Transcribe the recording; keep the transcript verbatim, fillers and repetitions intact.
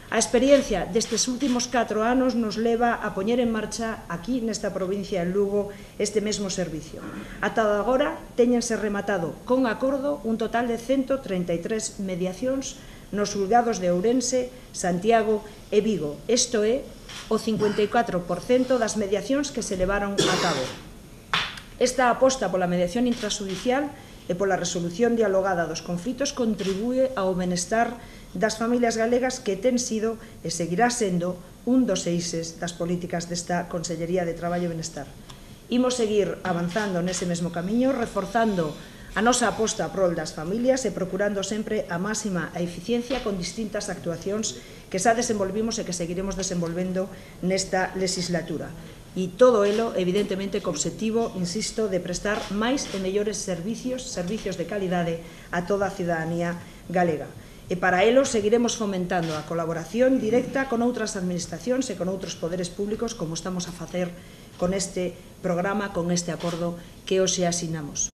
A experiencia destes últimos catro anos nos leva a poñer en marcha aquí nesta provincia en Lugo este mesmo servicio. Ata agora téñense rematado con acordo un total de ciento treinta e tres mediacións nos xulgados de Ourense, Santiago e Vigo. Isto é o cincuenta e catro por cento das mediacións que se levaron a cabo. Esta aposta pola mediación intrajudicial e pola resolución dialogada dos conflitos contribúe ao benestar das familias galegas, que ten sido e seguirá sendo un dos eixes das políticas desta Consellería de Traballo e Benestar. Imos seguir avanzando nese mesmo camiño, reforzando a nosa aposta a prol das familias e procurando sempre a máxima eficiencia con distintas actuacións que xa desenvolvimos e que seguiremos desenvolvendo nesta legislatura. E todo elo, evidentemente, co obxectivo, insisto, de prestar máis e mellores servicios, servicios de calidade a toda a cidadanía galega. E para elo seguiremos fomentando a colaboración directa con outras administracións e con outros poderes públicos, como estamos a facer con este programa, con este acordo que hoxe asinamos.